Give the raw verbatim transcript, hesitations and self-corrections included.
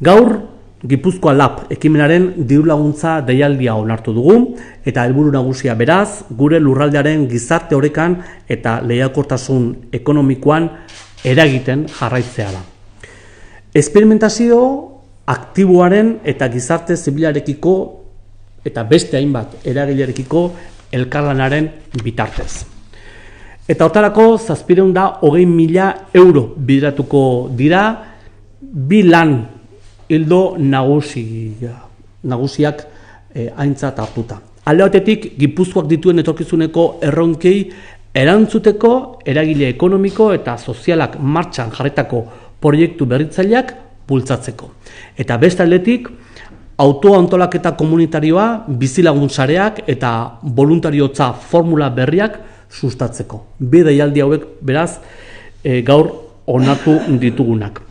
Gaur, Gipuzkoa Lab ekimenaren diru laguntza deialdia onartu dugu, eta helburu nagusia beraz, gure lurraldearen gizarte orekan eta lehiakortasun ekonomikoan eragiten jarraitzea da. Esperimentazio aktiboaren eta gizarte zibilarekiko eta beste hainbat eragilerekiko elkarlanaren bitartez. Eta hortarako zazpiehun eta hogei mila euro bideratuko dira bi lan hildo nagusia, nagusiak eh, aintzat hartuta. Alde batetik, Gipuzkoak dituen etorkizuneko erronkei erantzuteko eragile ekonomiko eta sozialak martxan jarritako proiektu berritzaileak bultzatzeko. Eta beste aldetik, autoa antolaketa komunitarioa, bizilagun sareak eta voluntariotza formula berriak sustatzeko. Bi deialdi hauek beraz e, gaur onartu ditugunak.